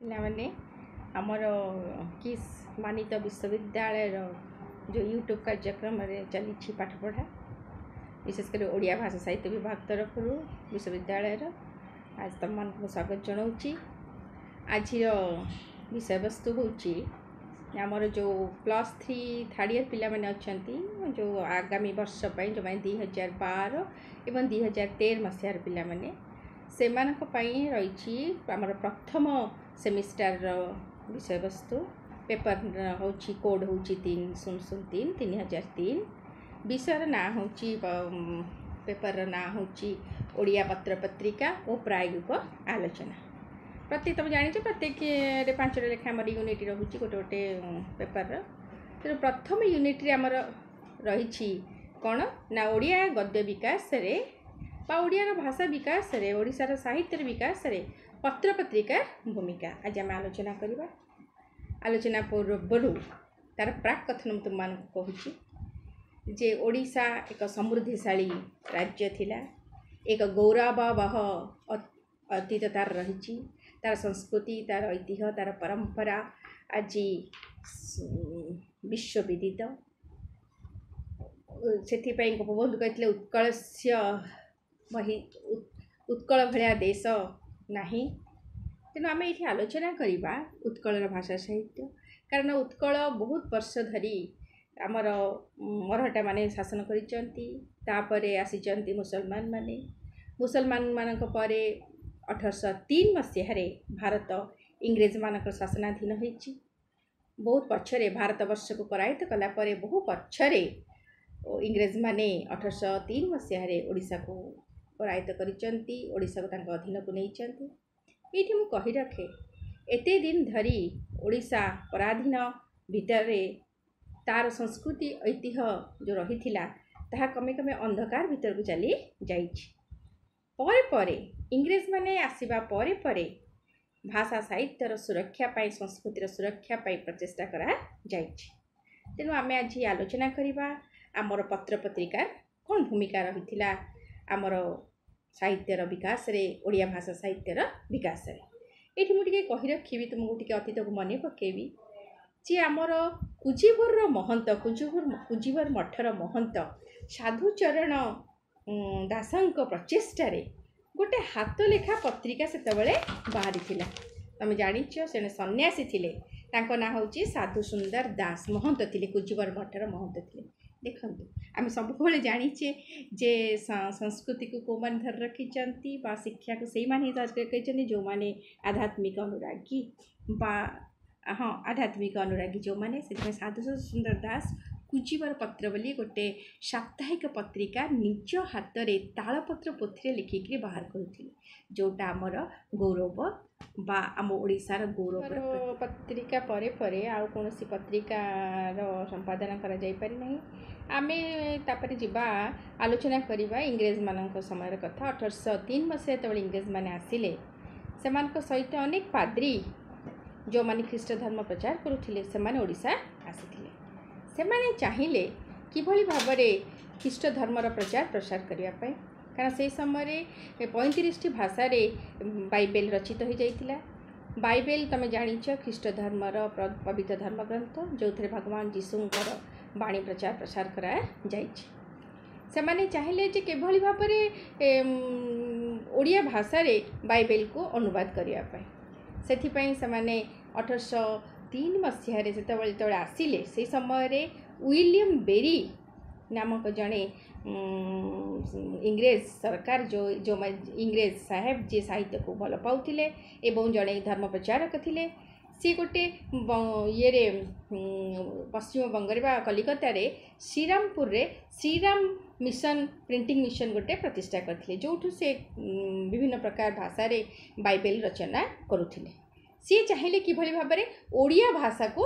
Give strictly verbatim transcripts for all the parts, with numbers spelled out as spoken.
ପିଲାମାନେ, ଆମର କିସ୍ ମାନିତ ବିଶ୍ୱବିଦ୍ୟାଳୟର ଯେଉଁ ୟୁଟ୍ୟୁବ୍ କାର୍ଯ୍ୟକ୍ରମରେ ଚାଲିଛି ପାଠପଢ଼ା, ବିଶେଷ କରି ଓଡ଼ିଆ ଭାଷା ସାହିତ୍ୟ ବିଭାଗ ତରଫରୁ ବିଶ୍ୱବିଦ୍ୟାଳୟର, ଆଜି ତୁମମାନଙ୍କୁ ମୁଁ ସ୍ୱାଗତ ଜଣାଉଛି। ଆଜିର ବିଷୟବସ୍ତୁ ହେଉଛି ଆମର ଯେଉଁ ପ୍ଲସ୍ ଥ୍ରୀ ଥାର୍ଡ଼ ଇୟର୍ ପିଲାମାନେ ଅଛନ୍ତି, ଯେଉଁ ଆଗାମୀ ବର୍ଷ ପାଇଁ ଯେଉଁମାନେ ଦୁଇ ହଜାର ବାର ଏବଂ ଦୁଇ ହଜାର ତେର ମସିହାର ପିଲାମାନେ, ସେମାନଙ୍କ ପାଇଁ ରହିଛି ଆମର ପ୍ରଥମ ସେମିଷ୍ଟାରର ବିଷୟବସ୍ତୁ। ପେପର୍ ହେଉଛି, କୋଡ଼୍ ହେଉଛି ତିନି ଶୂନ ଶୂନ ତିନି, ତିନି ହଜାର ତିନି। ବିଷୟର ନାଁ ହେଉଛି, ପେପର୍ର ନାଁ ହେଉଛି ଓଡ଼ିଆ ପତ୍ରପତ୍ରିକା ଓ ପ୍ରାୟୋଗିକ ଆଲୋଚନା। ପ୍ରତ୍ୟେକ ତୁମେ ଜାଣିଛ, ପ୍ରତ୍ୟେକରେ ପାଞ୍ଚଟା ଲେଖା ଆମର ୟୁନିଟ୍ ରହୁଛି ଗୋଟେ ଗୋଟେ ପେପର୍ର। ତେଣୁ ପ୍ରଥମ ୟୁନିଟ୍ରେ ଆମର ରହିଛି କ'ଣ ନା ଓଡ଼ିଆ ଗଦ୍ୟ ବିକାଶରେ ବା ଓଡ଼ିଆର ଭାଷା ବିକାଶରେ, ଓଡ଼ିଶାର ସାହିତ୍ୟର ବିକାଶରେ ପତ୍ରପତ୍ରିକା ଭୂମିକା ଆଜି ଆମେ ଆଲୋଚନା କରିବା। ଆଲୋଚନା ପୂର୍ବରୁ ତା'ର ପ୍ରାକ୍ କଥନ ମୁଁ ତୁମମାନଙ୍କୁ କହୁଛି ଯେ ଓଡ଼ିଶା ଏକ ସମୃଦ୍ଧିଶାଳୀ ରାଜ୍ୟ ଥିଲା। ଏକ ଗୌରବାବହ ଅତୀତ ତା'ର ରହିଛି। ତା'ର ସଂସ୍କୃତି, ତା'ର ଐତିହ୍ୟ, ତା'ର ପରମ୍ପରା ଆଜି ବିଶ୍ୱବିଦିତ। ସେଥିପାଇଁ ଗୋପବନ୍ଧୁ କହିଥିଲେ, ଉତ୍କଳସ୍ୟ ମହି, ଉତ୍କଳ ଭଳିଆ ଦେଶ ନାହିଁ। ତେଣୁ ଆମେ ଏଇଠି ଆଲୋଚନା କରିବା ଉତ୍କଳର ଭାଷା ସାହିତ୍ୟ, କାରଣ ଉତ୍କଳ ବହୁତ ବର୍ଷ ଧରି ଆମର ମରହଟ୍ଟାମାନେ ଶାସନ କରିଛନ୍ତି। ତାପରେ ଆସିଛନ୍ତି ମୁସଲମାନ ମାନେ। ମୁସଲମାନମାନଙ୍କ ପରେ ଅଠରଶହ ତିନି ମସିହାରେ ଭାରତ ଇଂରେଜମାନଙ୍କର ଶାସନାଧୀନ ହୋଇଛି। ବହୁତ ପଛରେ, ଭାରତବର୍ଷକୁ କରାୟତ୍ତ କଲା ପରେ ବହୁ ପଛରେ ଇଂରେଜମାନେ ଅଠରଶହ ତିନି ମସିହାରେ ଓଡ଼ିଶାକୁ କରାୟତ୍ତ କରିଛନ୍ତି, ଓଡ଼ିଶାକୁ ତାଙ୍କ ଅଧୀନକୁ ନେଇଛନ୍ତି। ଏଇଠି ମୁଁ କହି ରଖେ, ଏତେ ଦିନ ଧରି ଓଡ଼ିଶା ପରାଧୀନ ଭିତରେ ତା'ର ସଂସ୍କୃତି ଐତିହ୍ୟ ଯେଉଁ ରହିଥିଲା, ତାହା କମେ କମେ ଅନ୍ଧକାର ଭିତରକୁ ଚାଲି ଯାଇଛି। ପରେ ପରେ ଇଂରେଜମାନେ ଆସିବା ପରେ ପରେ ଭାଷା ସାହିତ୍ୟର ସୁରକ୍ଷା ପାଇଁ, ସଂସ୍କୃତିର ସୁରକ୍ଷା ପାଇଁ ପ୍ରଚେଷ୍ଟା କରାଯାଇଛି। ତେଣୁ ଆମେ ଆଜି ଆଲୋଚନା କରିବା ଆମର ପତ୍ରପତ୍ରିକାର କ'ଣ ଭୂମିକା ରହିଥିଲା ଆମର ସାହିତ୍ୟର ବିକାଶରେ, ଓଡ଼ିଆ ଭାଷା ସାହିତ୍ୟର ବିକାଶରେ। ଏଇଠି ମୁଁ ଟିକେ କହି ରଖିବି ତୁମକୁ, ଟିକେ ଅତୀତକୁ ମନେ ପକାଇବି ଯେ ଆମର କୁଜିବରର ମହନ୍ତ, କୁଜିବର କୁଜିବର ମଠର ମହନ୍ତ ସାଧୁଚରଣ ଦାସଙ୍କ ପ୍ରଚେଷ୍ଟାରେ ଗୋଟେ ହାତ ଲେଖା ପତ୍ରିକା ସେତେବେଳେ ବାହାରିଥିଲା। ତମେ ଜାଣିଛ, ସେ ସନ୍ନ୍ୟାସୀ ଥିଲେ, ତାଙ୍କ ନାଁ ହେଉଛି ସାଧୁ ସୁନ୍ଦର ଦାସ। ମହନ୍ତ ଥିଲେ, କୁଜିବର ମଠର ମହନ୍ତ ଥିଲେ। ଦେଖନ୍ତୁ, ଆମେ ସବୁବେଳେ ଜାଣିଛେ ଯେ ସଂସ୍କୃତିକୁ କେଉଁମାନେ ଧରି ରଖିଛନ୍ତି ବା ଶିକ୍ଷାକୁ ସେଇମାନେ ହିଁ ଧରି ରଖିଛନ୍ତି ଯେଉଁମାନେ ଆଧ୍ୟାତ୍ମିକ ଅନୁରାଗୀ ବା ହଁ, ଆଧ୍ୟାତ୍ମିକ ଅନୁରାଗୀ ଯେଉଁମାନେ। ସେଥିପାଇଁ ସାଧୁ ସୁନ୍ଦର ଦାସ କୁଜିବର ପତ୍ର ବୋଲି ଗୋଟେ ସାପ୍ତାହିକ ପତ୍ରିକା ନିଜ ହାତରେ ତାଳପତ୍ର ପୋଥିରେ ଲେଖିକିରି ବାହାର କରୁଥିଲେ, ଯେଉଁଟା ଆମର ଗୌରବ ବା ଆମ ଓଡ଼ିଶାର ଗୌରବ। ପତ୍ରିକା ପରେ ପରେ ଆଉ କୌଣସି ପତ୍ରିକାର ସମ୍ପାଦନା କରାଯାଇପାରି ନାହିଁ। ଆମେ ତାପରେ ଯିବା, ଆଲୋଚନା କରିବା ଇଂରେଜମାନଙ୍କ ସମୟର କଥା। ଅଠରଶହ ତିନି ମସିହା ଯେତେବେଳେ ଇଂରେଜମାନେ ଆସିଲେ, ସେମାନଙ୍କ ସହିତ ଅନେକ ପାଦ୍ରୀ ଯେଉଁମାନେ ଖ୍ରୀଷ୍ଟ ଧର୍ମ ପ୍ରଚାର କରୁଥିଲେ, ସେମାନେ ଓଡ଼ିଶା ଆସିଥିଲେ। ସେମାନେ ଚାହିଁଲେ କିଭଳି ଭାବରେ ଖ୍ରୀଷ୍ଟ ଧର୍ମର ପ୍ରଚାର ପ୍ରସାର କରିବା ପାଇଁ, କାରଣ ସେହି ସମୟରେ ପଇଁତିରିଶଟି ଭାଷାରେ ବାଇବେଲ ରଚିତ ହୋଇଯାଇଥିଲା। ବାଇବେଲ ତୁମେ ଜାଣିଛ ଖ୍ରୀଷ୍ଟ ଧର୍ମର ପବିତ୍ର ଧର୍ମଗ୍ରନ୍ଥ, ଯେଉଁଥିରେ ଭଗବାନ ଯୀଶୁଙ୍କର ବାଣୀ ପ୍ରଚାର ପ୍ରସାର କରାଯାଇଛି। ସେମାନେ ଚାହିଁଲେ ଯେ କିଭଳି ଭାବରେ ଓଡ଼ିଆ ଭାଷାରେ ବାଇବେଲକୁ ଅନୁବାଦ କରିବା ପାଇଁ। ସେଥିପାଇଁ ସେମାନେ ଅଠରଶହ ତିନି ମସିହାରେ ସେତେବେଳେ ଯେତେବେଳେ ଆସିଲେ, ସେହି ସମୟରେ ୱିଲିୟମ୍ ବେରି ନାମକ ଜଣେ ଇଂରେଜ ସରକାର, ଯେଉଁ ଯେଉଁ ଇଂରେଜ ସାହେବ ଯିଏ ସାହିତ୍ୟକୁ ଭଲ ପାଉଥିଲେ ଏବଂ ଜଣେ ଧର୍ମ ପ୍ରଚାରକ ଥିଲେ, ସିଏ ଗୋଟେ ଇଏରେ ପଶ୍ଚିମବଙ୍ଗରେ ବା କଲିକତାରେ ଶ୍ରୀରାମପୁରରେ ଶ୍ରୀରାମ ମିଶନ, ପ୍ରିଣ୍ଟିଂ ମିଶନ ଗୋଟେ ପ୍ରତିଷ୍ଠା କରିଥିଲେ, ଯେଉଁଠୁ ସେ ବିଭିନ୍ନ ପ୍ରକାର ଭାଷାରେ ବାଇବେଲ ରଚନା କରୁଥିଲେ। ସିଏ ଚାହିଁଲେ କିଭଳି ଭାବରେ ଓଡ଼ିଆ ଭାଷାକୁ,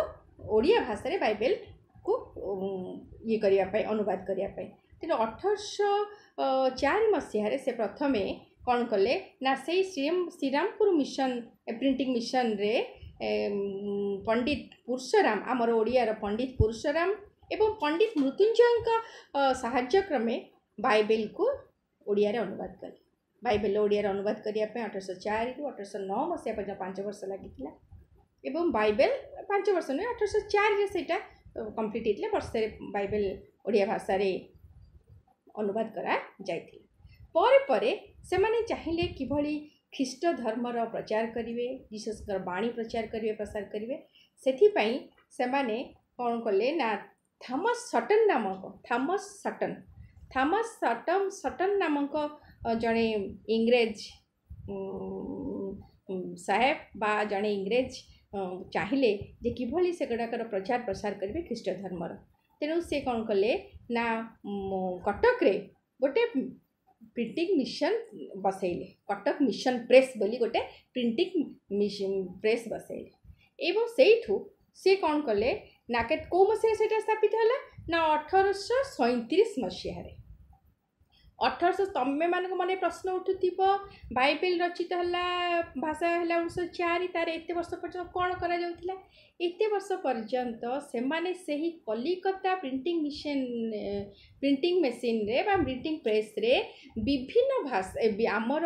ଓଡ଼ିଆ ଭାଷାରେ ବାଇବେଲକୁ ଇଏ କରିବା ପାଇଁ, ଅନୁବାଦ କରିବା ପାଇଁ। ତେଣୁ ଅଠରଶହ ଚାରି ମସିହାରେ ସେ ପ୍ରଥମେ କ'ଣ କଲେ ନା ସେଇ ଶ୍ରୀରାମପୁର ମିଶନ, ପ୍ରିଣ୍ଟିଂ ମିଶନରେ ପଣ୍ଡିତ ପୁରୁଷରାମ, ଆମର ଓଡ଼ିଆର ପଣ୍ଡିତ ପୁରୁଷରାମ ଏବଂ ପଣ୍ଡିତ ମୃତ୍ୟୁଞ୍ଜୟଙ୍କ ସାହାଯ୍ୟ କ୍ରମେ ବାଇବେଲକୁ ଓଡ଼ିଆରେ ଅନୁବାଦ କଲେ। ବାଇବେଲ ଓଡ଼ିଆରେ ଅନୁବାଦ କରିବା ପାଇଁ ଅଠରଶହ ଚାରିରୁ ଅଠରଶହ ନଅ ମସିହା ପର୍ଯ୍ୟନ୍ତ ପାଞ୍ଚ ବର୍ଷ ଲାଗିଥିଲା। ଏବଂ ବାଇବେଲ ପାଞ୍ଚ ବର୍ଷ ନୁହେଁ ଅଠରଶହ ଚାରିରେ ସେଇଟା କମ୍ପ୍ଲିଟ୍ ହେଇଥିଲା ବର୍ଷରେ ବାଇବେଲ ଓଡ଼ିଆ ଭାଷାରେ ଅନୁବାଦ କରାଯାଇଥିଲା ପରେ ପରେ ସେମାନେ ଚାହିଁଲେ କିଭଳି ଖ୍ରୀଷ୍ଟ ଧର୍ମର ପ୍ରଚାର କରିବେ ଯୀଶୁଙ୍କର ବାଣୀ ପ୍ରଚାର କରିବେ ପ୍ରସାର କରିବେ ସେଥିପାଇଁ ସେମାନେ କ'ଣ କଲେ ନା ଥମସ୍ ସଟନ୍ ନାମକ ଥମସ୍ ସଟନ୍ ଥମସ୍ ସଟନ୍ ସଟନ୍ ନାମକ ଜଣେ ଇଂରେଜ ସାହେବ ବା ଜଣେ ଇଂରେଜ ଚାହିଁଲେ ଯେ କିଭଳି ସେଗୁଡ଼ାକର ପ୍ରଚାର ପ୍ରସାର କରିବେ ଖ୍ରୀଷ୍ଟ ଧର୍ମର ତେଣୁ ସେ କ'ଣ କଲେ ନା କଟକରେ ଗୋଟେ ପ୍ରିଣ୍ଟିଂ ମିଶନ ବସେଇଲେ କଟକ ମିଶନ ପ୍ରେସ୍ ବୋଲି ଗୋଟେ ପ୍ରିଣ୍ଟିଂ ପ୍ରେସ୍ ବସେଇଲେ ଏବଂ ସେଇଠୁ ସେ କ'ଣ କଲେ ନା କେତେ କେଉଁ ମସିହାରେ ସେଇଟା ସ୍ଥାପିତ ହେଲା ନା ଅଠରଶହ ସଇଁତିରିଶ ମସିହାରେ ଅଠରଶହ ତମେମାନଙ୍କ ମନେ ପ୍ରଶ୍ନ ଉଠୁଥିବ ବାଇବେଲ ରଚିତ ହେଲା ଭାଷା ହେଲା ଉଣେଇଶହ ଚାରି ତାର ଏତେ ବର୍ଷ ପର୍ଯ୍ୟନ୍ତ କ'ଣ କରାଯାଉଥିଲା ଏତେ ବର୍ଷ ପର୍ଯ୍ୟନ୍ତ ସେମାନେ ସେହି କଲିକତା ପ୍ରିଣ୍ଟିଂ ମିଶନ ପ୍ରିଣ୍ଟିଂ ମେସିନରେ ବା ପ୍ରିଣ୍ଟିଂ ପ୍ରେସ୍ରେ ବିଭିନ୍ନ ଭାଷା ଆମର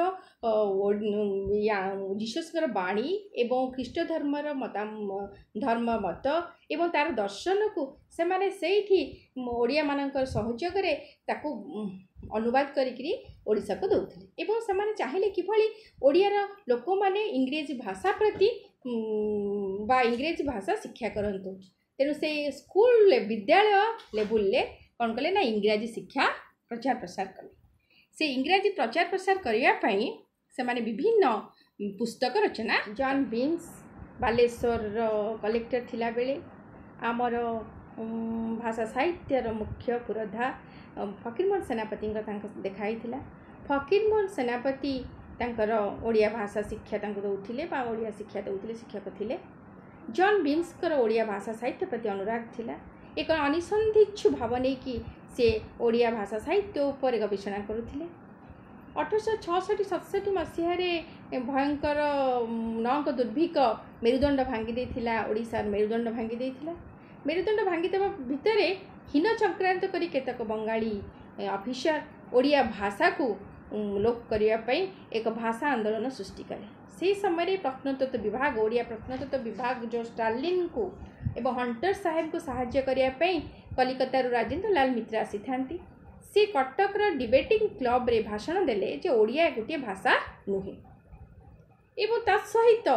ଯୀଶୁଙ୍କର ବାଣୀ ଏବଂ ଖ୍ରୀଷ୍ଟ ଧର୍ମର ମତା ଧର୍ମ ମତ ଏବଂ ତା'ର ଦର୍ଶନକୁ ସେମାନେ ସେଇଠି ଓଡ଼ିଆମାନଙ୍କର ସହଯୋଗରେ ତାକୁ ଅନୁବାଦ କରିକିରି ଓଡ଼ିଶାକୁ ଦେଉଥିଲେ ଏବଂ ସେମାନେ ଚାହିଁଲେ କିଭଳି ଓଡ଼ିଆର ଲୋକମାନେ ଇଂରେଜୀ ଭାଷା ପ୍ରତି ବା ଇଂରେଜୀ ଭାଷା ଶିକ୍ଷା କରନ୍ତୁ ତେଣୁ ସେ ସ୍କୁଲ ବିଦ୍ୟାଳୟ ଲେବୁଲରେ କ'ଣ କଲେ ନା ଇଂରାଜୀ ଶିକ୍ଷା ପ୍ରଚାର ପ୍ରସାର କଲେ ସେ ଇଂରାଜୀ ପ୍ରଚାର ପ୍ରସାର କରିବା ପାଇଁ ସେମାନେ ବିଭିନ୍ନ ପୁସ୍ତକ ରଚନା ଜନ୍ ବିମ୍ସ ବାଲେଶ୍ୱରର କଲେକ୍ଟର ଥିଲାବେଳେ ଆମର ଭାଷା ସାହିତ୍ୟର ମୁଖ୍ୟ ପୁରୋଧା ଫକୀରମୋହନ ସେନାପତିଙ୍କ ତାଙ୍କ ଦେଖା ହେଇଥିଲା ଫକୀରମୋହନ ସେନାପତି ତାଙ୍କର ଓଡ଼ିଆ ଭାଷା ଶିକ୍ଷା ତାଙ୍କୁ ଦେଉଥିଲେ ବା ଓଡ଼ିଆ ଶିକ୍ଷା ଦେଉଥିଲେ ଶିକ୍ଷକ ଥିଲେ ଜନ୍ ବିମ୍ସଙ୍କର ଓଡ଼ିଆ ଭାଷା ସାହିତ୍ୟ ପ୍ରତି ଅନୁରାଗ ଥିଲା ଏକ ଅନିସନ୍ଧିଚ୍ଛୁ ଭାବ ନେଇକି ସେ ଓଡ଼ିଆ ଭାଷା ସାହିତ୍ୟ ଉପରେ ଗବେଷଣା କରୁଥିଲେ ଅଠରଶହ ଛଅଷଠି ସତଷଠି ମସିହାରେ ଭୟଙ୍କର ନଅଙ୍କ ଦୁର୍ଭିକ୍ଷ ମେରୁଦଣ୍ଡ ଭାଙ୍ଗି ଦେଇଥିଲା ଓଡ଼ିଶାର ମେରୁଦଣ୍ଡ ଭାଙ୍ଗି ଦେଇଥିଲା ମେରୁଦଣ୍ଡ ଭାଙ୍ଗିଦେବା ଭିତରେ ହୀନ ଚକ୍ରାନ୍ତ କରି କେତେକ ବଙ୍ଗାଳୀ ଅଫିସର ଓଡ଼ିଆ ଭାଷାକୁ ଲୋପ କରିବା ପାଇଁ ଏକ ଭାଷା ଆନ୍ଦୋଳନ ସୃଷ୍ଟି କଲେ ସେହି ସମୟରେ ପ୍ରତ୍ନତତ୍ତ୍ୱ ବିଭାଗ ଓଡ଼ିଆ ପ୍ରତ୍ନତତ୍ତ୍ୱ ବିଭାଗ ଯେଉଁ ଷ୍ଟାଲିନଙ୍କୁ ଏବଂ ହଣ୍ଟର ସାହେବଙ୍କୁ ସାହାଯ୍ୟ କରିବା ପାଇଁ କଲିକତାରୁ ରାଜେନ୍ଦ୍ର ଲାଲ ମିତ୍ର ଆସିଥାନ୍ତି ସେ କଟକର ଡିବେଟିଂ କ୍ଲବରେ ଭାଷଣ ଦେଲେ ଯେ ଓଡ଼ିଆ ଗୋଟିଏ ଭାଷା ନୁହେଁ ଏବଂ ତା ସହିତ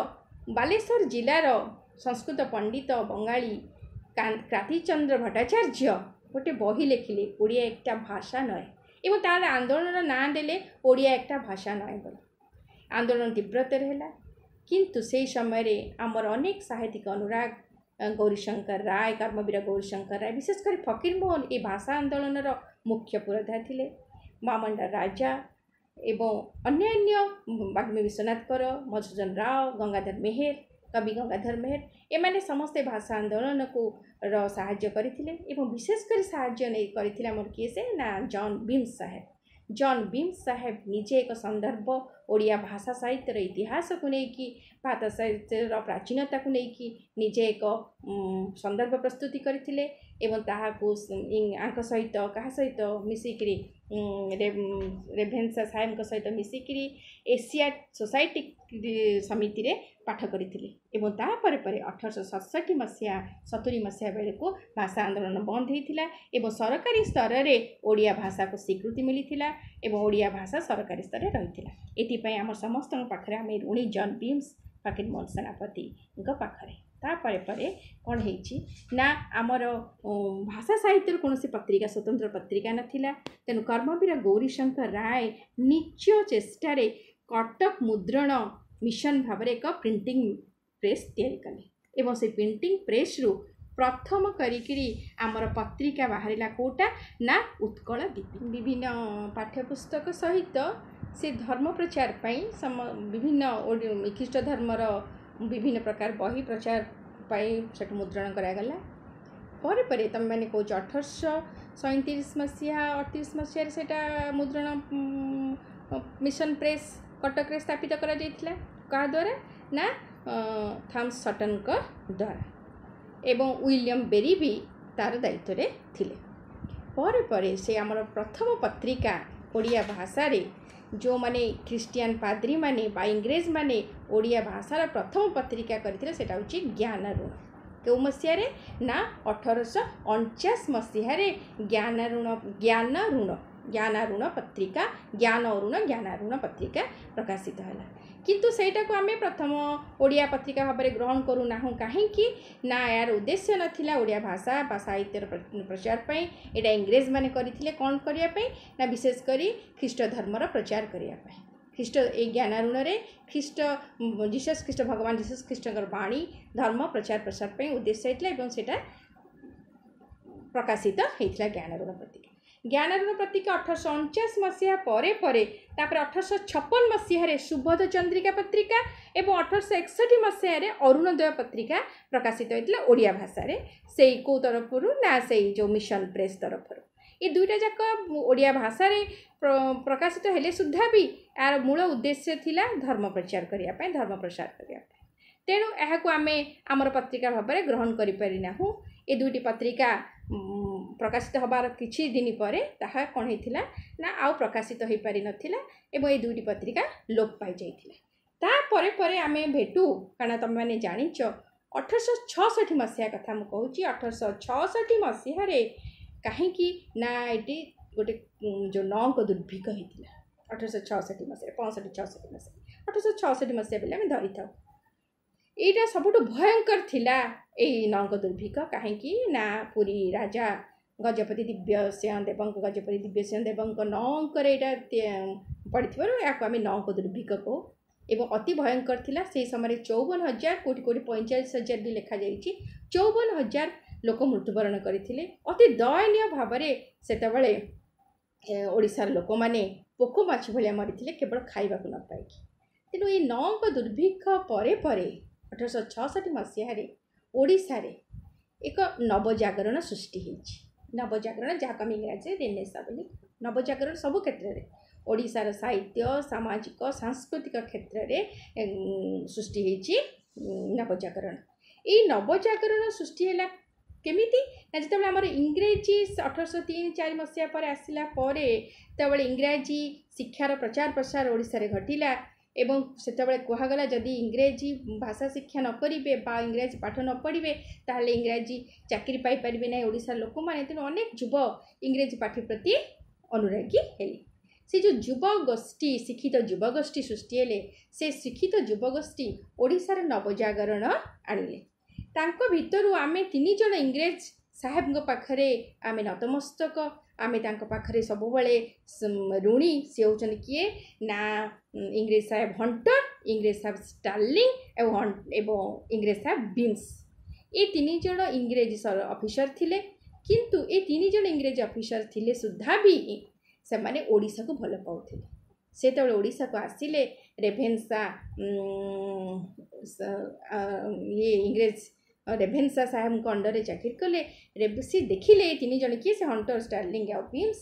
ବାଲେଶ୍ୱର ଜିଲ୍ଲାର ସଂସ୍କୃତ ପଣ୍ଡିତ ବଙ୍ଗାଳୀ କ୍ରାନ୍ତିଚନ୍ଦ୍ର ଭଟ୍ଟାଚାର୍ଯ୍ୟ ଗୋଟେ ବହି ଲେଖିଲେ ଓଡ଼ିଆ একটা ଭାଷା ନୁହେଁ ଏବଂ ତାର ଆନ୍ଦୋଳନର ନାଁ ଦେଲେ ଓଡ଼ିଆ একটা ଭାଷା ନୁହେଁ ବୋଲି ଆନ୍ଦୋଳନ ତୀବ୍ରତର ହେଲା କିନ୍ତୁ ସେହି ସମୟରେ ଆମର ଅନେକ ସାହିତ୍ୟିକ ଅନୁରାଗ ଗୌରୀଶଙ୍କର ରାୟ କର୍ମବୀର ଗୌରୀଶଙ୍କର ରାୟ ବିଶେଷ କରି ଫକୀରମୋହନ ଏ ଭାଷା ଆନ୍ଦୋଳନର ମୁଖ୍ୟ ପୁରୋଧା ଥିଲେ ମାମଣ୍ଡା ରାଜା ଏବଂ ଅନ୍ୟାନ୍ୟ ବାଗ୍ମୀ ବିଶ୍ୱନାଥ କର ମଧୁସୂଦନ ରାଓ ଗଙ୍ଗାଧର ମେହେର କବି ଗଙ୍ଗାଧର ମେହେର ଏମାନେ ସମସ୍ତେ ଭାଷା ଆନ୍ଦୋଳନକୁ ର ସାହାଯ୍ୟ କରିଥିଲେ ଏବଂ ବିଶେଷ କରି ସାହାଯ୍ୟ ନେଇ କରିଥିଲେ ଆମର କିଏ ସେ ନା ଜନ୍ ବିମ୍ସ ସାହେବ ଜନ୍ ବିମ୍ସ ସାହେବ ନିଜେ ଏକ ସନ୍ଦର୍ଭ ଓଡ଼ିଆ ଭାଷା ସାହିତ୍ୟର ଇତିହାସକୁ ନେଇକି ଭାଷା ସାହିତ୍ୟର ପ୍ରାଚୀନତାକୁ ନେଇକି ନିଜେ ଏକ ସନ୍ଦର୍ଭ ପ୍ରସ୍ତୁତି କରିଥିଲେ ଏବଂ ତାହାକୁ ୟାଙ୍କ ସହିତ କାହା ସହିତ ମିଶିକିରି ରେଭେନ୍ସା ସାହେବଙ୍କ ସହିତ ମିଶିକିରି ଏସିଆ ସୋସାଇଟି ସମିତିରେ ପାଠ କରିଥିଲେ ଏବଂ ତାପରେ ପରେ ଅଠରଶହ ସତଷଠି ମସିହା ସତୁରି ମସିହା ବେଳକୁ ଭାଷା ଆନ୍ଦୋଳନ ବନ୍ଦ ହେଇଥିଲା ଏବଂ ସରକାରୀ ସ୍ତରରେ ଓଡ଼ିଆ ଭାଷାକୁ ସ୍ୱୀକୃତି ମିଳିଥିଲା ଏବଂ ଓଡ଼ିଆ ଭାଷା ସରକାରୀ ସ୍ତରରେ ରହିଥିଲା ଏଥିପାଇଁ ଆମ ସମସ୍ତଙ୍କ ପାଖରେ ଆମେ ଋଣୀ ଜନ୍ ବିମ୍ସ ଫକୀରମୋହନ ସେନାପତିଙ୍କ ପାଖରେ ତାପରେ ପରେ କ'ଣ ହେଇଛି ନା ଆମର ଭାଷା ସାହିତ୍ୟର କୌଣସି ପତ୍ରିକା ସ୍ୱତନ୍ତ୍ର ପତ୍ରିକା ନଥିଲା ତେଣୁ କର୍ମବୀର ଗୌରୀଶଙ୍କର ରାୟ ନିଜ ଚେଷ୍ଟାରେ କଟକ ମୁଦ୍ରଣ ମିଶନ ଭାବରେ ଏକ ପ୍ରିଣ୍ଟିଂ ପ୍ରେସ୍ ତିଆରି କଲେ ଏବଂ ସେ ପ୍ରିଣ୍ଟିଂ ପ୍ରେସ୍ରୁ ପ୍ରଥମ କରିକିରି ଆମର ପତ୍ରିକା ବାହାରିଲା କେଉଁଟା ନା ଉତ୍କଳ ଦୀପିକା ବିଭିନ୍ନ ପାଠ୍ୟପୁସ୍ତକ ସହିତ ସେ ଧର୍ମ ପ୍ରଚାର ପାଇଁ ସମ ବିଭିନ୍ନ ଖ୍ରୀଷ୍ଟ ଧର୍ମର ବିଭିନ୍ନ ପ୍ରକାର ବହି ପ୍ରଚାର ପାଇଁ ସେଠୁ ମୁଦ୍ରଣ କରାଗଲା ପରେ ପରେ ତୁମେମାନେ କହୁଛ ଅଠରଶହ ସଇଁତିରିଶ ମସିହା ଅଠତିରିଶ ମସିହାରେ ସେଇଟା ମୁଦ୍ରଣ ମିଶନ ପ୍ରେସ୍ କଟକରେ ସ୍ଥାପିତ କରାଯାଇଥିଲା କାହା ଦ୍ୱାରା ନା ଥମସ୍ ସଟନ୍ଙ୍କ ଦ୍ୱାରା ଏବଂ ୱିଲିୟମ୍ ବେରି ବି ତା'ର ଦାୟିତ୍ୱରେ ଥିଲେ ପରେ ପରେ ସେ ଆମର ପ୍ରଥମ ପତ୍ରିକା ଓଡ଼ିଆ ଭାଷାରେ ଯେଉଁମାନେ ଖ୍ରୀଷ୍ଟିଆନ ପାଦ୍ରୀମାନେ ବା ଇଂରେଜମାନେ ଓଡ଼ିଆ ଭାଷାର ପ୍ରଥମ ପତ୍ରିକା କରିଥିଲେ ସେଇଟା ହେଉଛି ଜ୍ଞାନାରୁଣ। କେଉଁ ମସିହାରେ ନା ଅଠରଶହ ଅଣଚାଶ ମସିହାରେ ଜ୍ଞାନାରୁଣ ଜ୍ଞାନାରୁଣ ଜ୍ଞାନାରୁଣ ପତ୍ରିକା, ଜ୍ଞାନ ଅରୁଣ ଜ୍ଞାନାରୁଣ ପତ୍ରିକା ପ୍ରକାଶିତ ହେଲା। କିନ୍ତୁ ସେଇଟାକୁ ଆମେ ପ୍ରଥମ ଓଡ଼ିଆ ପତ୍ରିକା ଭାବରେ ଗ୍ରହଣ କରୁନାହୁଁ। କାହିଁକି ନା ଏହାର ଉଦ୍ଦେଶ୍ୟ ନଥିଲା ଓଡ଼ିଆ ଭାଷା ବା ସାହିତ୍ୟର ପ୍ରଚାର ପାଇଁ। ଏଇଟା ଇଂରେଜମାନେ କରିଥିଲେ କ'ଣ କରିବା ପାଇଁ ନା ବିଶେଷ କରି ଖ୍ରୀଷ୍ଟ ଧର୍ମର ପ୍ରଚାର କରିବା ପାଇଁ। ଖ୍ରୀଷ୍ଟ ଏଇ ଜ୍ଞାନାରୁଣରେ ଖ୍ରୀଷ୍ଟ ଜିସସ୍ ଖ୍ରୀଷ୍ଟ ଭଗବାନ ଜିସସ୍ ଖ୍ରୀଷ୍ଟଙ୍କର ବାଣୀ ଧର୍ମ ପ୍ରଚାର ପ୍ରସାର ପାଇଁ ଉଦ୍ଦେଶ୍ୟ ହେଇଥିଲା ଏବଂ ସେଇଟା ପ୍ରକାଶିତ ହେଇଥିଲା ଜ୍ଞାନାରୁଣ ପତ୍ରିକା। ଜ୍ଞାନାରୁଣ ପତ୍ରିକା ଅଠରଶହ ଅଣଚାଶ ମସିହା ପରେ ପରେ ତାପରେ ଅଠରଶହ ଛପନ ମସିହାରେ ସୁବୋଧ ଚନ୍ଦ୍ରିକା ପତ୍ରିକା ଏବଂ ଅଠରଶହ ଏକଷଠି ମସିହାରେ ଅରୁଣୋଦୟ ପତ୍ରିକା ପ୍ରକାଶିତ ହେଇଥିଲା ଓଡ଼ିଆ ଭାଷାରେ। ସେଇ କେଉଁ ତରଫରୁ ନା ସେଇ ଯେଉଁ ମିଶନ ପ୍ରେସ୍ ତରଫରୁ। ଏ ଦୁଇଟା ଯାକ ଓଡ଼ିଆ ଭାଷାରେ ପ୍ରକାଶିତ ହେଲେ ସୁଦ୍ଧା ବି ଏହାର ମୂଳ ଉଦ୍ଦେଶ୍ୟ ଥିଲା ଧର୍ମ ପ୍ରଚାର କରିବା ପାଇଁ, ଧର୍ମ ପ୍ରସାର କରିବା ପାଇଁ। ତେଣୁ ଏହାକୁ ଆମେ ଆମର ପତ୍ରିକା ଭାବରେ ଗ୍ରହଣ କରିପାରିନାହୁଁ। ଏ ଦୁଇଟି ପତ୍ରିକା ପ୍ରକାଶିତ ହେବାର କିଛି ଦିନ ପରେ ତାହା କ'ଣ ହେଇଥିଲା ନା ଆଉ ପ୍ରକାଶିତ ହୋଇପାରିନଥିଲା ଏବଂ ଏଇ ଦୁଇଟି ପତ୍ରିକା ଲୋପ ପାଇଯାଇଥିଲା। ତାପରେ ପରେ ଆମେ ଭେଟୁ, କାରଣ ତୁମେମାନେ ଜାଣିଛ ଅଠରଶହ ଛଅଷଠି ମସିହା କଥା ମୁଁ କହୁଛି। ଅଠରଶହ ଛଅଷଠି ମସିହାରେ କାହିଁକି ନା ଏଠି ଗୋଟେ ଯେଉଁ ନଅଙ୍କ ଦୁର୍ଭିକ୍ଷ ହେଇଥିଲା ଅଠରଶହ ଛଅଷଠି ମସିହାରେ, ପଞ୍ଚଷଠି ଛଅଷଠି ମସିହା, ଅଠରଶହ ଛଅଷଠି ମସିହା ବୋଲି ଆମେ ଧରିଥାଉ। ଏଇଟା ସବୁଠୁ ଭୟଙ୍କର ଥିଲା ଏଇ ନଅଙ୍କ ଦୁର୍ଭିକ୍ଷ। କାହିଁକି ନା ପୁରୀ ରାଜା ଗଜପତି ଦିବ୍ୟସିଂହ ଦେବଙ୍କ ଗଜପତି ଦିବ୍ୟସିଂହ ଦେବଙ୍କ ନଅ ଅଙ୍କରେ ଏଇଟା ପଡ଼ିଥିବାରୁ ଏହାକୁ ଆମେ ନଅଙ୍କ ଦୁର୍ଭିକ୍ଷ କହୁ ଏବଂ ଅତି ଭୟଙ୍କର ଥିଲା। ସେହି ସମୟରେ ଚଉବନ ହଜାର, କେଉଁଠି କେଉଁଠି ପଇଁଚାଳିଶ ହଜାର ବି ଲେଖାଯାଇଛି, ଚଉବନ ହଜାର ଲୋକ ମୃତ୍ୟୁବରଣ କରିଥିଲେ। ଅତି ଦୟନୀୟ ଭାବରେ ସେତେବେଳେ ଓଡ଼ିଶାର ଲୋକମାନେ ପୋକ ମାଛି ଭଳିଆ ମରିଥିଲେ କେବଳ ଖାଇବାକୁ ନ ପାଇକି। ତେଣୁ ଏଇ ନଅଙ୍କ ଦୁର୍ଭିକ୍ଷ ପରେ ପରେ ଅଠରଶହ ଛଅଷଠି ମସିହାରେ ଓଡ଼ିଶାରେ ଏକ ନବଜାଗରଣ ସୃଷ୍ଟି ହେଇଛି। ନବଜାଗରଣ, ଯାହାକୁ ଆମେ ଇଂରାଜୀରେ ରେନେସା ବୋଲି। ନବଜାଗରଣ ସବୁ କ୍ଷେତ୍ରରେ ଓଡ଼ିଶାର ସାହିତ୍ୟ, ସାମାଜିକ, ସାଂସ୍କୃତିକ କ୍ଷେତ୍ରରେ ସୃଷ୍ଟି ହେଇଛି ନବଜାଗରଣ। ଏଇ ନବଜାଗରଣ ସୃଷ୍ଟି ହେଲା କେମିତି ନା ଯେତେବେଳେ ଆମର ଇଂରେଜୀ ଅଠରଶହ ତିନି ଚାରି ମସିହା ପରେ ଆସିଲା ପରେ ସେତେବେଳେ ଇଂରାଜୀ ଶିକ୍ଷାର ପ୍ରଚାର ପ୍ରସାର ଓଡ଼ିଶାରେ ଘଟିଲା ଏବଂ ସେତେବେଳେ କୁହାଗଲା ଯଦି ଇଂରେଜୀ ଭାଷା ଶିକ୍ଷା ନ କରିବେ ବା ଇଂରାଜୀ ପାଠ ନ ପଢ଼ିବେ ତାହେଲେ ଇଂରାଜୀ ଚାକିରି ପାଇପାରିବେ ନାହିଁ ଓଡ଼ିଶାର ଲୋକମାନେ। ତେଣୁ ଅନେକ ଯୁବ ଇଂରେଜୀ ପାଠ ପ୍ରତି ଅନୁରାଗୀ ହେଲେ। ସେ ଯେଉଁ ଯୁବଗୋଷ୍ଠୀ, ଶିକ୍ଷିତ ଯୁବଗୋଷ୍ଠୀ ସୃଷ୍ଟି ହେଲେ, ସେ ଶିକ୍ଷିତ ଯୁବଗୋଷ୍ଠୀ ଓଡ଼ିଶାର ନବଜାଗରଣ ଆଣିଲେ। ତାଙ୍କ ଭିତରୁ ଆମେ ତିନି ଜଣ ଇଂରେଜ ସାହେବଙ୍କ ପାଖରେ ଆମେ ନତମସ୍ତକ, ଆମେ ତାଙ୍କ ପାଖରେ ସବୁବେଳେ ଋଣୀ। ସେ ହେଉଛନ୍ତି କିଏ ନା ଇଂରେଜ ସାହେବ ହଣ୍ଟର, ଇଂରେଜ ସାହେବ ଷ୍ଟାର୍ଲିଂ ଏବଂ ଏବଂ ଇଂରେଜ ସାହେବ ବିମ୍ସ। ଏ ତିନି ଜଣ ଇଂରେଜ ଅଫିସର ଥିଲେ। କିନ୍ତୁ ଏ ତିନି ଜଣ ଇଂରେଜ ଅଫିସର ଥିଲେ ସୁଦ୍ଧା ବି ସେମାନେ ଓଡ଼ିଶାକୁ ଭଲ ପାଉଥିଲେ। ସେତେବେଳେ ଓଡ଼ିଶାକୁ ଆସିଲେ ରେଭେନ୍ସା ଇଏ ଇଂରେଜ ରେଭେନ୍ସା ସାହେବଙ୍କ ଅଣ୍ଡରରେ ଚାକିରି କଲେ। ସେ ଦେଖିଲେ ଏ ତିନି ଜଣ କିଏ, ସେ ହଣ୍ଟର, ଷ୍ଟାର୍ଲିଂ ଆଉ ବିମ୍ସ,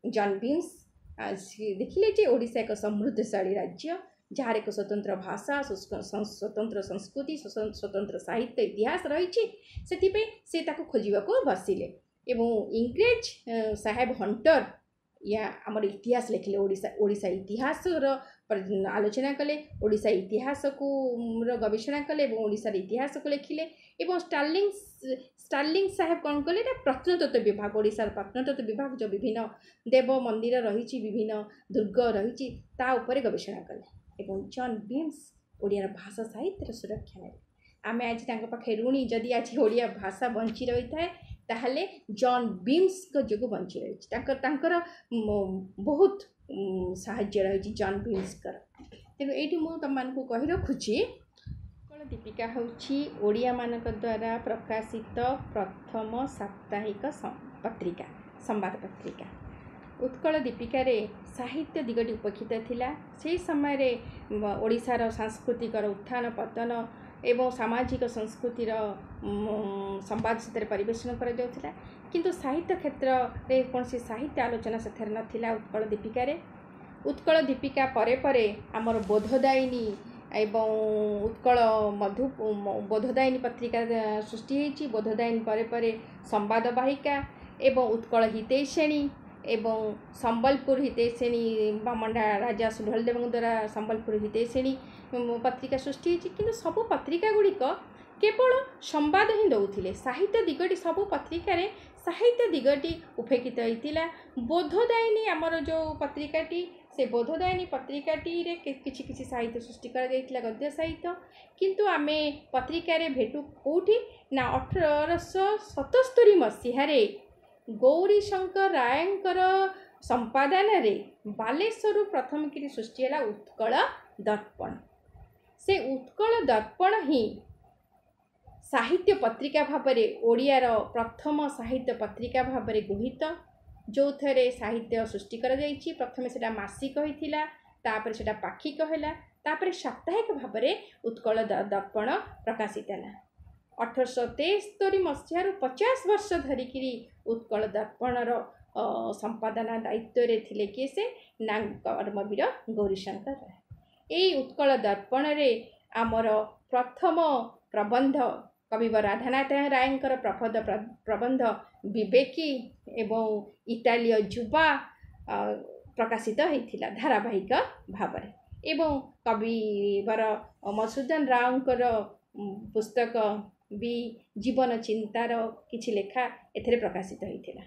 ଜନ୍ ବିମ୍ସ। ସେ ଦେଖିଲେ ଯେ ଓଡ଼ିଶା ଏକ ସମୃଦ୍ଧଶାଳୀ ରାଜ୍ୟ, ଯାହାର ଏକ ସ୍ୱତନ୍ତ୍ର ଭାଷା, ସ୍ୱତନ୍ତ୍ର ସଂସ୍କୃତି, ସ୍ୱତନ୍ତ୍ର ସାହିତ୍ୟ, ଇତିହାସ ରହିଛି। ସେଥିପାଇଁ ସେ ତାକୁ ଖୋଜିବାକୁ ବସିଲେ ଏବଂ ଇଂରେଜ ସାହେବ ହଣ୍ଟର ୟା ଆମର ଇତିହାସ ଲେଖିଲେ, ଓଡ଼ିଶା ଓଡ଼ିଶା ଇତିହାସର ଆଲୋଚନା କଲେ, ଓଡ଼ିଶା ଇତିହାସକୁ ଗବେଷଣା କଲେ ଏବଂ ଓଡ଼ିଶାର ଇତିହାସକୁ ଲେଖିଲେ। ଏବଂ ଷ୍ଟାର୍ଲିଂ ଷ୍ଟାର୍ଲିଂ ସାହେବ କ'ଣ କଲେ ନା ପ୍ରତ୍ନତତ୍ତ୍ୱ ବିଭାଗ, ଓଡ଼ିଶାର ପ୍ରତ୍ନତତ୍ତ୍ୱ ବିଭାଗ ଯେଉଁ ବିଭିନ୍ନ ଦେବ ମନ୍ଦିର ରହିଛି, ବିଭିନ୍ନ ଦୁର୍ଗ ରହିଛି, ତା ଉପରେ ଗବେଷଣା କଲେ। ଏବଂ ଜନ୍ ବିମ୍ସ ଓଡ଼ିଆର ଭାଷା ସାହିତ୍ୟର ସୁରକ୍ଷା ନେଲେ। ଆମେ ଆଜି ତାଙ୍କ ପାଖେ ଋଣୀ। ଯଦି ଆଜି ଓଡ଼ିଆ ଭାଷା ବଞ୍ଚି ରହିଥାଏ ତାହେଲେ ଜନ୍ ବିମ୍ସଙ୍କ ଯୋଗୁଁ ବଞ୍ଚି ରହିଛି। ତାଙ୍କର ତାଙ୍କର ବହୁତ ସାହାଯ୍ୟ ରହିଛି ଜନ୍ ବିମ୍ସଙ୍କର। ତେଣୁ ଏଇଠି ମୁଁ ତୁମମାନଙ୍କୁ କହି ରଖୁଛି, ଉତ୍କଳ ଦୀପିକା ହେଉଛି ଓଡ଼ିଆମାନଙ୍କ ଦ୍ୱାରା ପ୍ରକାଶିତ ପ୍ରଥମ ସାପ୍ତାହିକ ପତ୍ରିକା, ସମ୍ବାଦ ପତ୍ରିକା। ଉତ୍କଳ ଦୀପିକାରେ ସାହିତ୍ୟ ଦିଗଟି ଉପେକ୍ଷିତ ଥିଲା। ସେହି ସମୟରେ ଓଡ଼ିଶାର ସାଂସ୍କୃତିକର ଉତ୍ଥାନ ପତନ ଏବଂ ସାମାଜିକ ସଂସ୍କୃତିର ସମ୍ବାଦ ସେଥିରେ ପରିବେଷଣ କରାଯାଉଥିଲା। କିନ୍ତୁ ସାହିତ୍ୟ କ୍ଷେତ୍ରରେ କୌଣସି ସାହିତ୍ୟ ଆଲୋଚନା ସେଥିରେ ନଥିଲା ଉତ୍କଳ ଦୀପିକାରେ। ଉତ୍କଳ ଦୀପିକା ପରେ ପରେ ଆମର ବୋଧଦାୟିନୀ ଏବଂ ଉତ୍କଳ ମଧୁ ବୋଧଦାୟିନୀ ପତ୍ରିକା ସୃଷ୍ଟି ହେଇଛି। ବୋଧଦାୟିନୀ ପରେ ପରେ ସମ୍ବାଦ ବାହିକା ଏବଂ ଉତ୍କଳ ହିତୈଷିଣୀ ଏବଂ ସମ୍ବଲପୁର ହିତୈଷିଣୀ ବାମଣ୍ଡା ରାଜା ସୁଢଳ ଦେବଙ୍କ ଦ୍ୱାରା ସମ୍ବଲପୁର ହିତୈଷିଣୀ ପତ୍ରିକା ସୃଷ୍ଟି ହେଇଛି। କିନ୍ତୁ ସବୁ ପତ୍ରିକା ଗୁଡ଼ିକ କେବଳ ସମ୍ବାଦ ହିଁ ଦେଉଥିଲେ, ସାହିତ୍ୟ ଦିଗଟି ସବୁ ପତ୍ରିକାରେ ସାହିତ୍ୟ ଦିଗଟି ଉପେକ୍ଷିତ ହେଇଥିଲା। ବୋଧଦାୟିନୀ ଆମର ଯେଉଁ ପତ୍ରିକାଟି, ସେ ବୋଧଦାୟିନୀ ପତ୍ରିକାଟିରେ କିଛି କିଛି ସାହିତ୍ୟ ସୃଷ୍ଟି କରାଯାଇଥିଲା, ଗଦ୍ୟ ସାହିତ୍ୟ। କିନ୍ତୁ ଆମେ ପତ୍ରିକାରେ ଭେଟୁ କେଉଁଠି ନା ଅଠରଶହ ସତସ୍ତରୀ ମସିହାରେ ଗୌରୀଶଙ୍କର ରାୟଙ୍କର ସମ୍ପାଦନାରେ ବାଲେଶ୍ୱରରୁ ପ୍ରଥମ କରି ସୃଷ୍ଟି ହେଲା ଉତ୍କଳ ଦର୍ପଣ। ସେ ଉତ୍କଳ ଦର୍ପଣ ହିଁ ସାହିତ୍ୟ ପତ୍ରିକା ଭାବରେ, ଓଡ଼ିଆର ପ୍ରଥମ ସାହିତ୍ୟ ପତ୍ରିକା ଭାବରେ ଗୃହୀତ, ଯେଉଁଥିରେ ସାହିତ୍ୟ ସୃଷ୍ଟି କରାଯାଇଛି। ପ୍ରଥମେ ସେଇଟା ମାସିକ ହେଇଥିଲା, ତାପରେ ସେଇଟା ପାକ୍ଷିକ ହେଲା, ତାପରେ ସାପ୍ତାହିକ ଭାବରେ ଉତ୍କଳ ଦର୍ପଣ ପ୍ରକାଶିତ ହେଲା। ଅଠରଶହ ତେସ୍ତରୀ ମସିହାରୁ ପଚାଶ ବର୍ଷ ଧରିକିରି ଉତ୍କଳ ଦର୍ପଣର ସମ୍ପାଦନା ଦାୟିତ୍ୱରେ ଥିଲେ କିଏ ସେ ନା କର୍ମବୀର ଗୌରୀଶଙ୍କର ରାୟ। ଏଇ ଉତ୍କଳ ଦର୍ପଣରେ ଆମର ପ୍ରଥମ ପ୍ରବନ୍ଧ କବିବର ରାଧାନାଥ ରାୟଙ୍କର ପ୍ରବନ୍ଧ ପ୍ରବନ୍ଧ ବିବେକୀ ଏବଂ ଇଟାଲୀୟ ଯୁବା ପ୍ରକାଶିତ ହେଇଥିଲା ଧାରାବାହିକ ଭାବରେ, ଏବଂ କବିବର ମଧୁସୂଦନ ରାଓଙ୍କର ପୁସ୍ତକ ବି ଜୀବନ ଚିନ୍ତାର କିଛି ଲେଖା ଏଥିରେ ପ୍ରକାଶିତ ହେଇଥିଲା।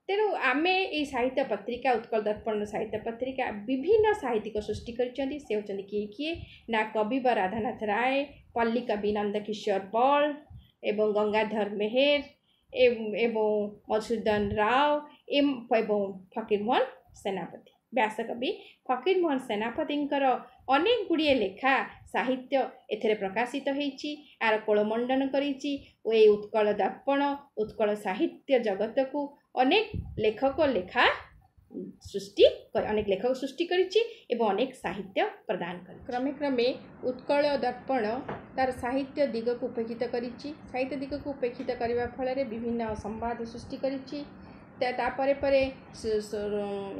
ତେଣୁ ଆମେ ଏଇ ସାହିତ୍ୟ ପତ୍ରିକା ଉତ୍କଳ ଦର୍ପଣର ସାହିତ୍ୟ ପତ୍ରିକା ବିଭିନ୍ନ ସାହିତ୍ୟିକ ସୃଷ୍ଟି କରିଛନ୍ତି। ସେ ହେଉଛନ୍ତି କିଏ କିଏ ନା କବିବର ରାଧାନାଥ ରାୟ, ପଲ୍ଲୀ କବି ନନ୍ଦକିଶୋର ବଳ ଏବଂ ଗଙ୍ଗାଧର ମେହେର ଏବଂ ମଧୁସୂଦନ ରାଓ ଏବଂ ଫକୀରମୋହନ ସେନାପତି। ବ୍ୟାସକବି ଫକୀରମୋହନ ସେନାପତିଙ୍କର ଅନେକ ଗୁଡ଼ିଏ ଲେଖା ସାହିତ୍ୟ ଏଥିରେ ପ୍ରକାଶିତ ହେଇଛି, ଏହାର କୋଳମଣ୍ଡନ କରିଛି ଓ ଏଇ ଉତ୍କଳ ଦର୍ପଣ ଉତ୍କଳ ସାହିତ୍ୟ ଜଗତକୁ ଅନେକ ଲେଖକ ଲେଖା ସୃଷ୍ଟି ଅନେକ ଲେଖକ ସୃଷ୍ଟି କରିଛି ଏବଂ ଅନେକ ସାହିତ୍ୟ ପ୍ରଦାନ କରିଛି। କ୍ରମେ କ୍ରମେ ଉତ୍କଳ ଦର୍ପଣ ତାର ସାହିତ୍ୟ ଦିଗକୁ ଉପେକ୍ଷିତ କରିଛି। ସାହିତ୍ୟ ଦିଗକୁ ଉପେକ୍ଷିତ କରିବା ଫଳରେ ବିଭିନ୍ନ ସମ୍ବାଦ ସୃଷ୍ଟି କରିଛି। ତାପରେ ପରେ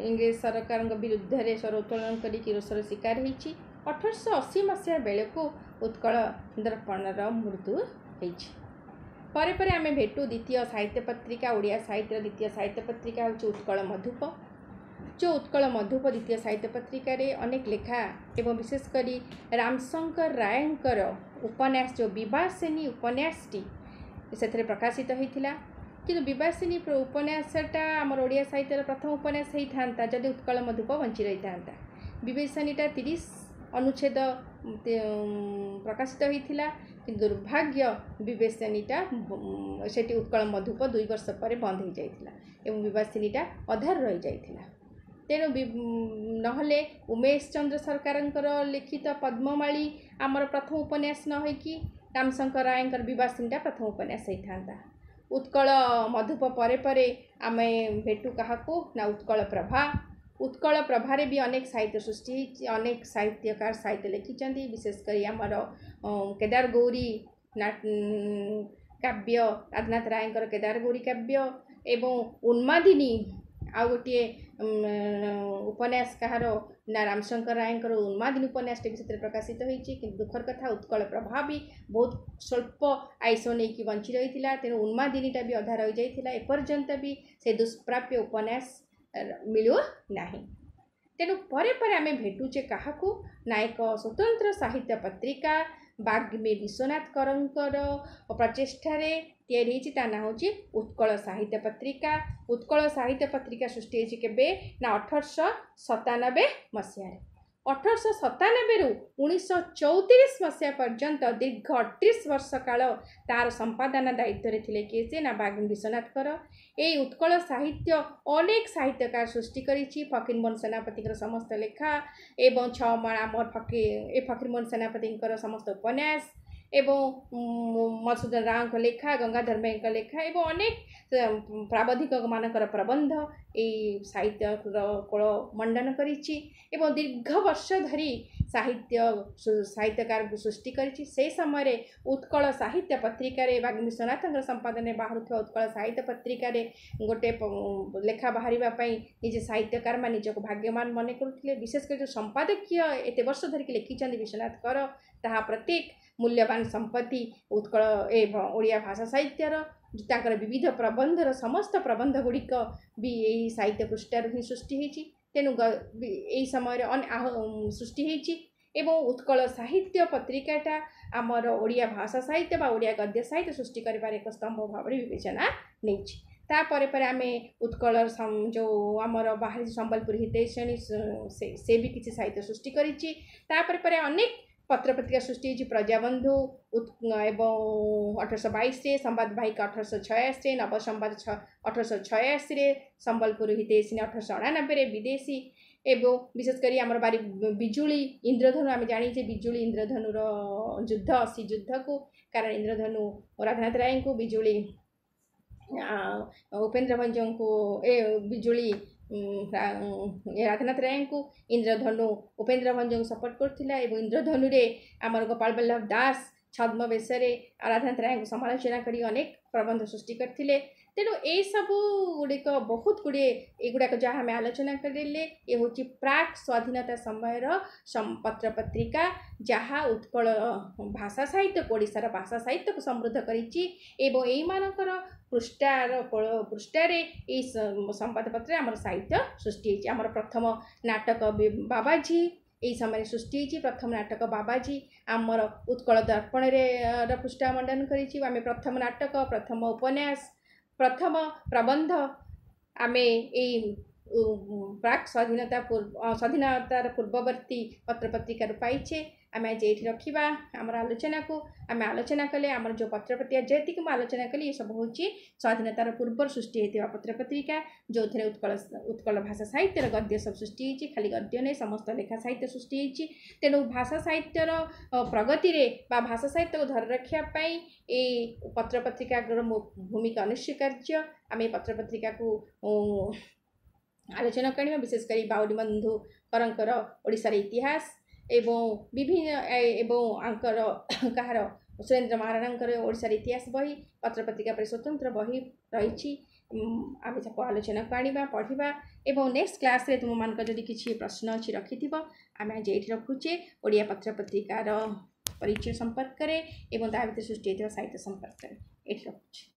ଇଂରେଜ ସରକାରଙ୍କ ବିରୁଦ୍ଧରେ ସ୍ୱର ଉତ୍ତୋଳନ କରିକି ରୋଷର ଶିକାର ହେଇଛି। ଅଠରଶହ ଅଶୀ ମସିହା ବେଳକୁ ଉତ୍କଳ ଦର୍ପଣର ମୃତ୍ୟୁ ହେଇଛି। ପରେ ପରେ ଆମେ ଭେଟୁ ଦ୍ୱିତୀୟ ସାହିତ୍ୟ ପତ୍ରିକା, ଓଡ଼ିଆ ସାହିତ୍ୟର ଦ୍ୱିତୀୟ ସାହିତ୍ୟ ପତ୍ରିକା ହେଉଛି ଉତ୍କଳ ମଧୁପ। ଯେଉଁ ଉତ୍କଳ ମଧୁପ ଦ୍ୱିତୀୟ ସାହିତ୍ୟ ପତ୍ରିକାରେ ଅନେକ ଲେଖା ଏବଂ ବିଶେଷ କରି ରାମଶଙ୍କର ରାୟଙ୍କର ଉପନ୍ୟାସ ଯେଉଁ ବିବାସିନୀ ଉପନ୍ୟାସଟି ସେଥିରେ ପ୍ରକାଶିତ ହୋଇଥିଲା। କିନ୍ତୁ ବିବାସିନୀ ଉପନ୍ୟାସଟା ଆମର ଓଡ଼ିଆ ସାହିତ୍ୟର ପ୍ରଥମ ଉପନ୍ୟାସ ହେଇଥାନ୍ତା ଯଦି ଉତ୍କଳ ମଧୁପ ବଞ୍ଚି ରହିଥାନ୍ତା। ବିବାସିନୀଟା ତିରିଶ ଅନୁଚ୍ଛେଦ ପ୍ରକାଶିତ ହୋଇଥିଲା, କିନ୍ତୁ ଦୁର୍ଭାଗ୍ୟ ବିବାସିନୀଟା ସେଠି ଉତ୍କଳ ମଧୁପ ଦୁଇ ବର୍ଷ ପରେ ବନ୍ଦ ହୋଇଯାଇଥିଲା ଏବଂ ବିବାସିନୀଟା ଅଧାରୁ ରହିଯାଇଥିଲା। ତେଣୁ ନହେଲେ ଉମେଶ ଚନ୍ଦ୍ର ସରକାରଙ୍କର ଲିଖିତ ପଦ୍ମମାଳୀ ଆମର ପ୍ରଥମ ଉପନ୍ୟାସ ନ ହୋଇକି ରାମଶଙ୍କର ରାୟଙ୍କର ବିବାସିନୀଟା ପ୍ରଥମ ଉପନ୍ୟାସ ହେଇଥାନ୍ତା। ଉତ୍କଳ ମଧୁପ ପରେ ପରେ ଆମେ ଭେଟୁ କାହାକୁ ନା ଉତ୍କଳ ପ୍ରଭା। ଉତ୍କଳ ପ୍ରଭାରେ ବି ଅନେକ ସାହିତ୍ୟ ସୃଷ୍ଟି ହେଇଛି, ଅନେକ ସାହିତ୍ୟକାର ସାହିତ୍ୟ ଲେଖିଛନ୍ତି। ବିଶେଷ କରି ଆମର କେଦାର ଗୌରୀ କାବ୍ୟ, ରାଧାନାଥ ରାୟଙ୍କର କେଦାର ଗୌରୀ କାବ୍ୟ ଏବଂ ଉନ୍ମାଦିନୀ ଆଉ ଗୋଟିଏ ଉପନ୍ୟାସ କାହାର ନା ରାମଶଙ୍କର ରାୟଙ୍କର ଉନ୍ମାଦିନୀ ଉପନ୍ୟାସଟି ବି ସେଥିରେ ପ୍ରକାଶିତ ହୋଇଛି। କିନ୍ତୁ ଦୁଃଖର କଥା ଉତ୍କଳ ପ୍ରଭା ବି ବହୁତ ସ୍ୱଳ୍ପ ଆୟୁଷ ନେଇକି ବଞ୍ଚି ରହିଥିଲା, ତେଣୁ ଉନ୍ମାଦିନୀଟା ବି ଅଧା ରହିଯାଇଥିଲା। ଏପର୍ଯ୍ୟନ୍ତ ବି ସେ ଦୁଷ୍ପ୍ରାପ୍ୟ ଉପନ୍ୟାସ ମିଳୁନାହିଁ। ତେଣୁ ପରେ ପରେ ଆମେ ଭେଟୁଛେ କାହାକୁ ନା ଏକ ସ୍ୱତନ୍ତ୍ର ସାହିତ୍ୟ ପତ୍ରିକା ବାଗ୍ମୀ ବିଶ୍ୱନାଥ କରଙ୍କର ପ୍ରଚେଷ୍ଟାରେ ତିଆରି ହେଇଛି। ତା ନାଁ ହେଉଛି ଉତ୍କଳ ସାହିତ୍ୟ ପତ୍ରିକା। ଉତ୍କଳ ସାହିତ୍ୟ ପତ୍ରିକା ସୃଷ୍ଟି ହେଇଛି କେବେ ନା ଅଠରଶହ ସତାନବେ ମସିହାରେ। ଅଠରଶହ ସତାନବେରୁ ଉଣେଇଶହ ଚଉତିରିଶ ମସିହା ପର୍ଯ୍ୟନ୍ତ ଦୀର୍ଘ ଅଠତିରିଶ ବର୍ଷ କାଳ ତାର ସମ୍ପାଦନା ଦାୟିତ୍ୱରେ ଥିଲେ କିଏ ସେ ନା ବାଗ୍ମୀ ବିଶ୍ୱନାଥ କର। ଏଇ ଉତ୍କଳ ସାହିତ୍ୟ ଅନେକ ସାହିତ୍ୟକାର ସୃଷ୍ଟି କରିଛି। ଫକୀରମୋହନ ସେନାପତିଙ୍କର ସମସ୍ତ ଲେଖା ଏବଂ ଛଅ ମାଣ ଆମର ଫକୀର ଏ ଫକୀରମୋହନ ସେନାପତିଙ୍କର ସମସ୍ତ ଉପନ୍ୟାସ ଏବଂ ମଧୁସୂଦନ ରାଓଙ୍କ ଲେଖା, ଗଙ୍ଗାଧର ମେହେରଙ୍କ ଲେଖା ଏବଂ ଅନେକ ପ୍ରାବନ୍ଧିକମାନଙ୍କର ପ୍ରବନ୍ଧ ଏଇ ସାହିତ୍ୟର କୋଳ ମଣ୍ଡନ କରିଛି ଏବଂ ଦୀର୍ଘ ବର୍ଷ ଧରି ସାହିତ୍ୟ ସାହିତ୍ୟକାରଙ୍କୁ ସୃଷ୍ଟି କରିଛି। ସେହି ସମୟରେ ଉତ୍କଳ ସାହିତ୍ୟ ପତ୍ରିକାରେ ବାଗ୍ମୀ ବିଶ୍ୱନାଥଙ୍କର ସମ୍ପାଦନାରେ ବାହାରୁଥିବା ଉତ୍କଳ ସାହିତ୍ୟ ପତ୍ରିକାରେ ଗୋଟେ ଲେଖା ବାହାରିବା ପାଇଁ ନିଜେ ସାହିତ୍ୟକାରମାନେ ନିଜକୁ ଭାଗ୍ୟବାନ ମନେ କରୁଥିଲେ। ବିଶେଷ କରି ଯେଉଁ ସମ୍ପାଦକୀୟ ଏତେ ବର୍ଷ ଧରିକି ଲେଖିଛନ୍ତି ବିଶ୍ୱନାଥ କର, ତାହା ପ୍ରତ୍ୟେକ ମୂଲ୍ୟବାନ ସମ୍ପତ୍ତି ଉତ୍କଳ ଏ ଓଡ଼ିଆ ଭାଷା ସାହିତ୍ୟର ତାଙ୍କର ବିବିଧ ପ୍ରବନ୍ଧର ସମସ୍ତ ପ୍ରବନ୍ଧ ଗୁଡ଼ିକ ବି ଏଇ ସାହିତ୍ୟ ପୃଷ୍ଠାରୁ ହିଁ ସୃଷ୍ଟି ହେଇଛି। ତେଣୁ ଏଇ ସମୟରେ ସୃଷ୍ଟି ହେଇଛି ଏବଂ ଉତ୍କଳ ସାହିତ୍ୟ ପତ୍ରିକାଟା ଆମର ଓଡ଼ିଆ ଭାଷା ସାହିତ୍ୟ ବା ଓଡ଼ିଆ ଗଦ୍ୟ ସାହିତ୍ୟ ସୃଷ୍ଟି କରିବାରେ ଏକ ସ୍ତମ୍ଭ ଭାବରେ ବିବେଚନା ନେଇଛି। ତାପରେ ପରେ ଆମେ ଉତ୍କଳ ଯେଉଁ ଆମର ବାହାରିଛି ସମ୍ବଲପୁରୀ ହିତୈଷିଣୀ, ସେ ବି କିଛି ସାହିତ୍ୟ ସୃଷ୍ଟି କରିଛି। ତାପରେ ପରେ ଅନେକ ପତ୍ରପତ୍ରିକା ସୃଷ୍ଟି ହେଇଛି, ପ୍ରଜାବନ୍ଧୁ ଏବଂ ଅଠରଶହ ବାଇଶରେ, ସମ୍ବାଦ ବାହିକା ଅଠରଶହ ଛୟାଅଶୀରେ, ନବସମ୍ବାଦ ଅଠରଶହ ଛୟାଅଶୀରେ, ସମ୍ବଲପୁର ହିତୈଷିଣୀ ଅଠରଶହ ଅଣାନବେରେ, ବିଦେଶୀ ଏବଂ ବିଶେଷ କରି ଆମର ବାରି ବିଜୁଳି ଇନ୍ଦ୍ରଧନୁ। ଆମେ ଜାଣିଛେ ବିଜୁଳି ଇନ୍ଦ୍ରଧନୁର ଯୁଦ୍ଧ, ଅଶୀ ଯୁଦ୍ଧକୁ, କାରଣ ଇନ୍ଦ୍ରଧନୁ ରାଧାନାଥ ରାୟଙ୍କୁ, ବିଜୁଳି ଉପେନ୍ଦ୍ର ଭଞ୍ଜଙ୍କୁ, ଏ ବିଜୁଳି ରାଧାନାଥ ରାୟଙ୍କୁ, ଇନ୍ଦ୍ରଧନୁ ଉପେନ୍ଦ୍ର ଭଞ୍ଜଙ୍କୁ ସପୋର୍ଟ କରୁଥିଲା। ଏବଂ ଇନ୍ଦ୍ରଧନୁରେ ଆମର ଗୋପାଳ ବଲ୍ଲଭ ଦାସ ଛଦ୍ମବେଶରେ ରାଧାନାଥ ରାୟଙ୍କୁ ସମାଲୋଚନା କରି ଅନେକ ପ୍ରବନ୍ଧ ସୃଷ୍ଟି କରିଥିଲେ। ତେଣୁ ଏଇସବୁ ଗୁଡ଼ିକ ବହୁତ ଗୁଡ଼ିଏ, ଏଗୁଡ଼ାକ ଯାହା ଆମେ ଆଲୋଚନା କରିଲେ, ଏ ହେଉଛି ପ୍ରାକ୍ ସ୍ୱାଧୀନତା ସମୟର ପତ୍ରପତ୍ରିକା, ଯାହା ଉତ୍କଳ ଭାଷା ସାହିତ୍ୟକୁ, ଓଡ଼ିଶାର ଭାଷା ସାହିତ୍ୟକୁ ସମୃଦ୍ଧ କରିଛି। ଏବଂ ଏଇମାନଙ୍କର ପୃଷ୍ଠାର ପୃଷ୍ଠାରେ ଏଇ ସମ୍ବାଦପତ୍ରରେ ଆମର ସାହିତ୍ୟ ସୃଷ୍ଟି ହେଇଛି। ଆମର ପ୍ରଥମ ନାଟକ ବାବାଜୀ ଏଇ ସମୟରେ ସୃଷ୍ଟି ହେଇଛି। ପ୍ରଥମ ନାଟକ ବାବାଜୀ ଆମର ଉତ୍କଳ ଦର୍ପଣରେ ପୃଷ୍ଠା ମଣ୍ଡନ କରିଛି। ଆମେ ପ୍ରଥମ ନାଟକ, ପ୍ରଥମ ଉପନ୍ୟାସ, ପ୍ରଥମ ପ୍ରବନ୍ଧ ଆମେ ଏଇ ପ୍ରାକ୍ ସ୍ୱାଧୀନତା ପୂର୍ବ, ସ୍ୱାଧୀନତାର ପୂର୍ବବର୍ତ୍ତୀ ପତ୍ରପତ୍ରିକାରୁ ପାଇଛେ। ଆମେ ଆଜି ଏଇଠି ରଖିବା ଆମର ଆଲୋଚନାକୁ। ଆମେ ଆଲୋଚନା କଲେ ଆମର ଯେଉଁ ପତ୍ରପତ୍ରିକା ଯେତିକି ମୁଁ ଆଲୋଚନା କଲି, ଏସବୁ ହେଉଛି ସ୍ୱାଧୀନତାର ପୂର୍ବରୁ ସୃଷ୍ଟି ହେଇଥିବା ପତ୍ରପତ୍ରିକା, ଯେଉଁଥିରେ ଉତ୍କଳ ଉତ୍କଳ ଭାଷା ସାହିତ୍ୟର ଗଦ୍ୟ ସବୁ ସୃଷ୍ଟି ହେଇଛି। ଖାଲି ଗଦ୍ୟ ନୁହେଁ, ସମସ୍ତ ଲେଖା ସାହିତ୍ୟ ସୃଷ୍ଟି ହେଇଛି। ତେଣୁ ଭାଷା ସାହିତ୍ୟର ପ୍ରଗତିରେ ବା ଭାଷା ସାହିତ୍ୟକୁ ଧରି ରଖିବା ପାଇଁ ଏଇ ପତ୍ରପତ୍ରିକାର ଭୂମିକା ଅନସ୍ୱୀକାର୍ଯ୍ୟ। ଆମେ ଏ ପତ୍ରପତ୍ରିକାକୁ ଆଲୋଚନା କରିବା, ବିଶେଷ କରି ବାଉରୀ ବନ୍ଧୁ କରଙ୍କର ଓଡ଼ିଶାର ଇତିହାସ ଏବଂ ବିଭିନ୍ନ ଏବଂ ଆଙ୍କର କାହାର ସୁରେନ୍ଦ୍ର ମହାରଣାଙ୍କର ଓଡ଼ିଶାର ଇତିହାସ ବହି, ପତ୍ରପତ୍ରିକା ପରି ସ୍ୱତନ୍ତ୍ର ବହି ରହିଛି। ଆମେ ତାକୁ ଆଲୋଚନାକୁ ଆଣିବା, ପଢ଼ିବା ଏବଂ ନେକ୍ସଟ କ୍ଲାସ୍ରେ ତୁମମାନଙ୍କର ଯଦି କିଛି ପ୍ରଶ୍ନ ଅଛି ରଖିଥିବ। ଆମେ ଆଜି ଏଇଠି ରଖୁଛେ ଓଡ଼ିଆ ପତ୍ରପତ୍ରିକାର ପରିଚୟ ସମ୍ପର୍କରେ ଏବଂ ତା ଭିତରେ ସୃଷ୍ଟି ହେଇଥିବା ସାହିତ୍ୟ ସମ୍ପର୍କରେ ଏଇଠି ରଖୁଛି।